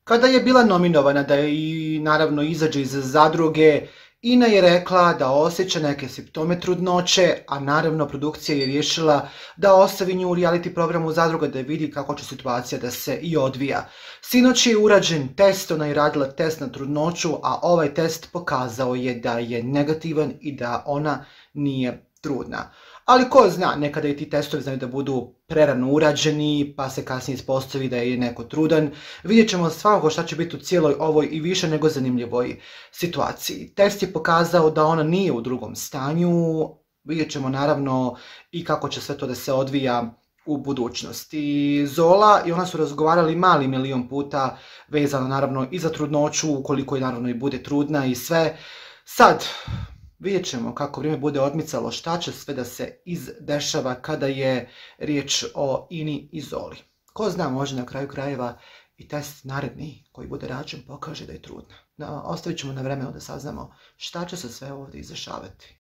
Kada je bila nominovana da i naravno izađe iz zadruge, Ina je rekla da osjeća neke simptome trudnoće, a naravno produkcija je riješila da ostavi nju u reality programu Zadruga da vidi kako će situacija da se i odvija. Sinoć je urađen test, ona je radila test na trudnoću, a ovaj test pokazao je da je negativan i da ona nije trudna. Ali ko zna, nekada i ti testovi znaju da budu prerano urađeni, pa se kasnije ispostavi da je neko trudan. Vidjet ćemo svakako šta će biti u cijeloj ovoj i više nego zanimljivoj situaciji. Test je pokazao da ona nije u drugom stanju, vidjet ćemo naravno i kako će sve to da se odvija u budućnosti. Zola i ona su razgovarali mali milion puta vezano naravno i za trudnoću, ukoliko je naravno i bude trudna i sve. Sad, vidjet ćemo kako vrijeme bude odmicalo, šta će sve da se izdešava kada je riječ o Ini i Zoli. Ko zna, može na kraju krajeva i test naredni koji bude rađen pokaže da je trudna. Ostavit ćemo na vremenu da saznamo šta će se sve ovdje izdešavati.